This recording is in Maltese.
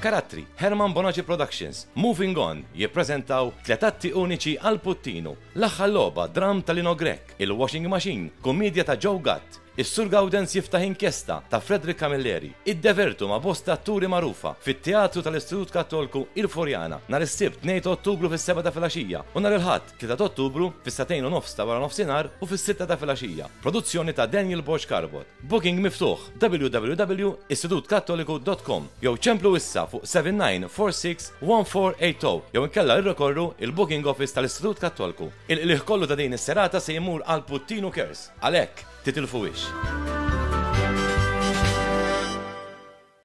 Karattri, Herman Bonaci Productions, Moving On jippreżentaw tliet atti uniċi għal Puttinu, L-Aħħar Logħba, dramm ta' Lino Grech, Il-Washing Machine, kummiedja ta' Joe Gatt, Is-Sur Gawdenz jiftaħ inkjesta ta' Frederick Camilleri, Iddevertu ma' bosta atturi magħrufa fit-Teatru tal-Istitut Kattolku Il Furjana nhar is-Sibt 2 ta' Ottubru fis-sebgħa ta' filgħaxija u nhar il-Ħadd 3 ta' Ottubru fis-sagħtejn u nofs ta' waranofsinhar u fis-sitta ta' filgħaxija. Produzzjoni ta' Daniel Borg Carbot. Booking miftuħ www.istitutkattoliku.com jew ċemplu issa fuq 7946 1480 jew inkella irrikorru il-Booking Office tal-Istitut Kattolku. Il-qligħ kollu ta' din is-serata se jmur għal Puttinu Cares. Għalhekk, titilfuhiex.